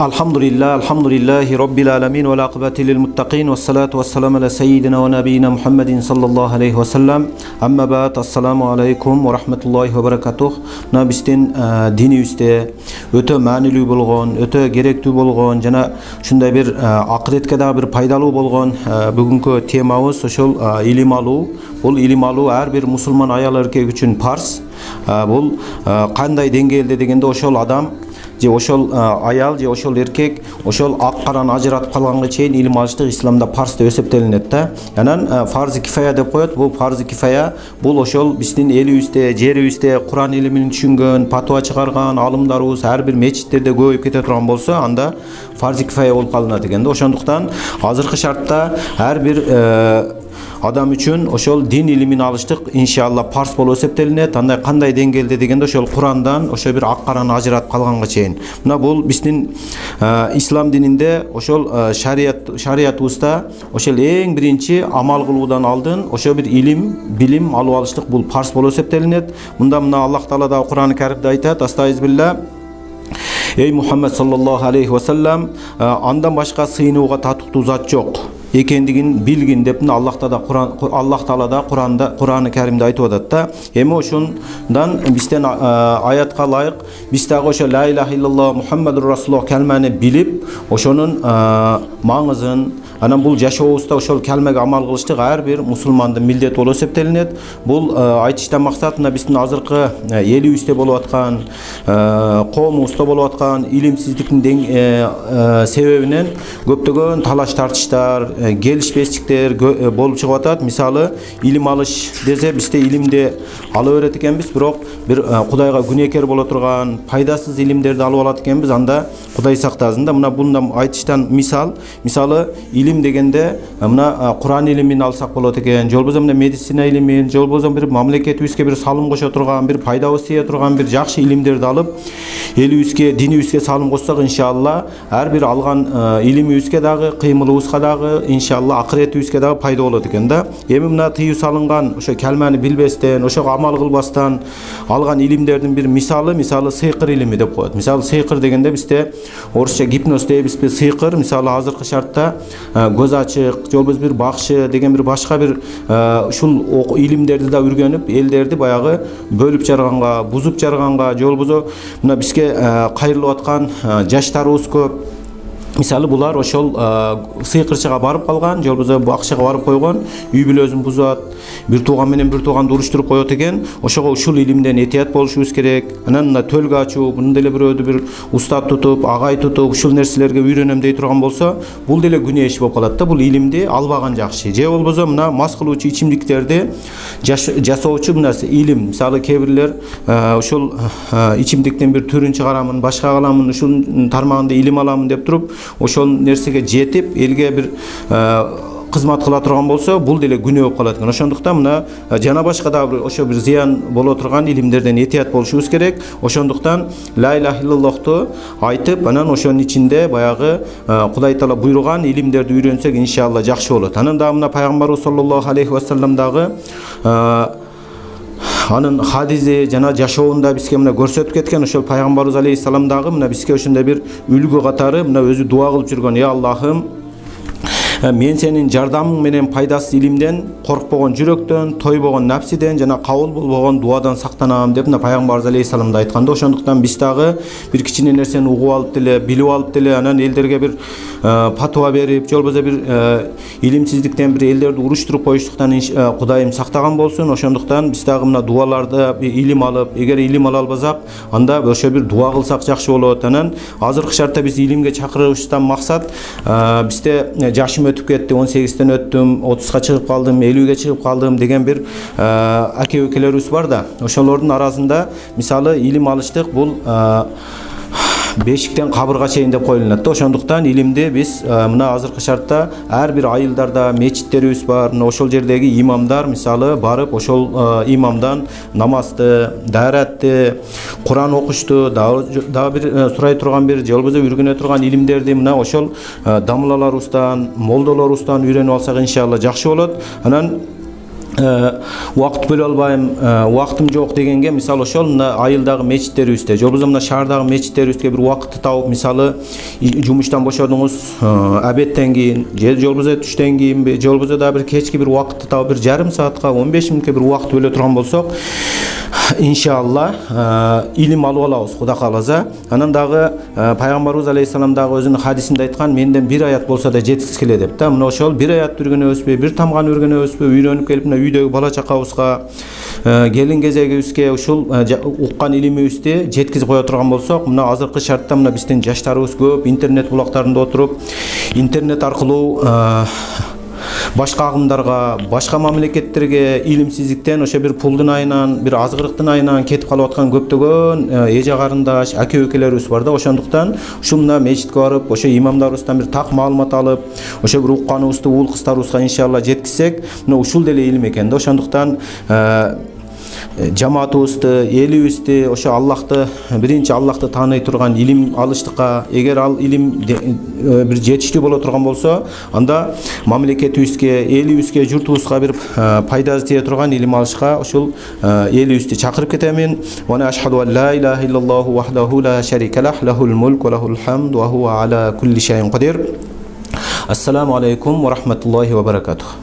Alhamdulillahi Rabbil alamin ve l'aqibati lil muttaqin ve salatu ve selamu ala seyyidina ve nabiyina Muhammedin sallallahu aleyhi ve sellem. Amma ba'd, assalamu aleykum ve rahmetullahi ve berekatuh. Mına bizdin dinibizde ötө maanилүү болгон, ötө керектүү болгон жана ушундай бир акыретке да бир пайдалуу болгон бүгүнкү темабыз ошол илим алуу. Бул илим алуу ар бир мусулман аял эркек үчүн парз. Бул кандай деңгээлде дегенде ошол адам же ошол аял же ошол эркек ошол ак караны ажыратып калганга чейин илим алыштык исламда парз деп эсептелинет да. Анан фарзи кифая деп коет. Бул фарзи кифая бул ошол биздин элибизде, жерибизде Куран илимин түшүнгөн, патва чыгарган алымдарыбыз ар бир мечиттерде көбөйүп кете турган болсо, анда фарзи кифая болуп калынат экен да. Ошондуктан азыркы шартта ар бир адам үчүн ошол дин илимин алыштык иншалла парз болуп эсептелинет. Андай кандай деңгээлде дегенде ошол Курандан ошо бир ак караны ажыратып калганга чейин. Мына бул биздин ислам дининде ошол шариятыбызда ошол эң биринчи амал кылуудан алдын ошо бир илим, билим алып алыштык бул парз болуп эсептелинет. Мына Аллах Таала да Куран-ы Каримде айтат: "Астагфирулла. Эй Мухаммед саллаллаху алейхи ва саллям, андан башка сыйынууга татыктуу зат жок экендигин билгин" деп Аллах Таала да Куран-ы Каримде айтып атат да. Эми ошондан бизден аятка ылайык биз дагы ошо ла илаха иллаллах Мухаммадур Расулуллах калманы билип, ошонун маңызын, анан бул жашообузда ошол калмеге амал кылыштык ар бир мусулмандын милдети болуп эсептелинет. Бул айтыштан максат мына биздин азыркы элибизде болуп аткан, коомубузда болуп аткан илимсиздиктин себебинен көптөгөн талаш тартыштар, келишпестиктер болуп чыгып атат. Мисалы, илим алыш десе бизде илимди ала берет экенбиз, бирок бир Кудайга күнөөкөр боло турган пайдасыз илимдерди алып алат экенбиз. Анда Кудай сактасын да. Мына бундан айтыштан мисалы илим дегенде мына Куран илимин алсак болот экен, же болбосо мына медицина илимин, же болбосо бир мамлекетибизге бир салым кошо турган, бир пайдабыз тие турган бир жакшы илимдерди алып элибизге, динибизге салым кошсок, иншалла ар бир алган илимибизге дагы, кыймылыбызга дагы, иншалла акыретибизге дагы пайда болот экен да. Эми мына тыюу салынган ошо калманы билбестен, ошого амал кылбастан алган илимдердин бир мисалы сыйкыр илими деп коет. Мисалы сыйкыр дегенде бизде орусча гипноз дейбизби, сыйкыр мисалы азыркы шартта көз ачык, же болбосо бир бакшы деген бир башка бир ушул илимдерди да үйрөнүп элдерди баягы бөлүп жарганга, бузуп жарганга, же болбосо мына бизге кайрылып аткан жаштарыбыз көп. Мисалы булар ошол сыйкырчыга барып калган, же болбосо бакчыга барып койгон, үй бүлөсүн бузат, бир тууган менен бир тууганды уруштуруп коет экен. Ошого ушул илимден этият болушубуз керек. Анан мына төлгө ачуу, мындай эле бирөөдү бир устат тутуп, агай тутуп, ушул нерселерге үйрөнөм дей турган болсо, бул деле күнөө иш болуп калат да. Бул илимди албаган жакшы. Же болбосо мына мас кылуучу ичимдиктерди жасоочу мына илим. Мисалы кээ бирлер ушул ичимдиктин бир түрүн чыгарамын, башка кыламын, ушул тармагында илим аламын деп туруп ошол нерсеге жетип элге бир кызмат кыла турган болсо, бул деле күнөө болуп калат экен. Ошондуктан мына жана башка да ошо бир зыян боло турган илимдерден этият болушубуз керек. Ошондуктан ла илаха иллаллахту айтып, анан ошонун ичинде баягы Кудай Таала буйруган илимдерди үйрөнсөк, иншалла жакшы болот. Анан дагы мына пайгамбарыбыз саллаллаху алейхи ва саллям дагы анын хадиси жана жашоонда бизге мына көрсөтүп кеткен. Ошол пайгамбарыбыз алейхиссалам дагы мына бизге ошондой бир үлгү катары мына өзү дуа кылып жүргөн: "Я Аллахым, мен сенин жардамың менен пайдасыз илимден, коркпогон жүрөктөн, тойбогон напсиден жана кабыл болбогон дуадан сактанам" деп пайгамбарыбыз алейхиссалам да айтканда. Ошондуктан биз дагы бир кичине нерсени угуп алып деле, билип алып деле, анан элдерге бир патва берип, же болбосо бир илимсиздиктен бир элдерди уруштуруп коюштуктан Кудайым сактаган болсун. Ошондуктан биз дагы мына дуаларды илим алып, эгер илим ала албасак, анда ошо бир дуа кылсак жакшы болот. Анан азыркы шартта биз илимге чакырышtan максат бизде жашым өтүп кетти, 18-тен өттүм, 30-га чыгып калдым, 50-ге чыгып калдым деген бир аке-экелерибиз бар да. Ошолордун арасында мисалы илим алыштык бул бешиктен кабырга чейин деп коюлат да. Ошондуктан илимди биз мына азыркы шартта ар бир айылдарда мечиттерибиз бар. Мына ошол жердеги имамдар мисалы барып ошол имамдан намазды, дааратты, Куран окушту, дагы бир сурай турган бир же болбосо үйрөнө турган илимдерди мына ошол дамылаларыбыздан, молдолорубуздан үйрөнүп алсак иншалла жакшы болот. Анан убакыт бөлө албайм, убактым жок дегенге мисалы ошол мына айылдагы мечиттерибизде же болбосо мына шаардагы мечиттерибизге бир убакытты табып, мисалы жумуштан бошодуңуз обедтен кийин же болбосо түштөн кийинби же болбосо дагы бир кечки бир убакытты табып бир жарым саатка 15 мүнөткө бир убакыт бөлө турган болсок иншалла илим алып алабыз Кудай кааласа. Анан дагы пайгамбарыбыз алейхисалам дагы өзүнүн хадисинде айткан, менден бир аят болсо да жеткиз келе деп да. Мына ошол бир аятты үйрөнөбүзбү, бир тамганы үйрөнөбүзбү, үйрөнүп келип мына үйдөгү бала чакабызга, келин кезегибизге ушул уккан илимибизди жеткизип кое турган болсок, мына азыркы шартта мына биздин жаштарыбыз көп интернет булактарында отуруп, интернет аркылуу башка агымдарга, башка мамлекеттерге илимсиздиктен ошо бир пулдун айынан, бир азгырыктын айынан кетип калып аткан көптөгөн эже карындаш, аке өкөлөрүбүз бар да. Ошондуктан ушул мына мечитке барып, ошо имамдарыбыздан бир так маалымат алып, ошо бир укканыбызды уул кыздарыбызга иншалла жеткизсек, мына ушул деле илим экен да. Ошондуктан жамаатыбызды, элибизди ошо Аллахты, биринчи Аллахты тааный турган илим алыштыкка, эгер ал илим бир жетиштүү боло турган болсо, анда мамлекетибизге, элибизге, журтубузга бир пайдасы тие турган илим алышка ушул элибизди чакырып кетемин. Ва на ашхаду ан ла илаха иллаллаху вахдаху ла шарика лах, лахул мулк ва лахул хамд ва хува аля кулли шайин кадир. Ассаламу алейкум ва рахматуллахи ва баракатух.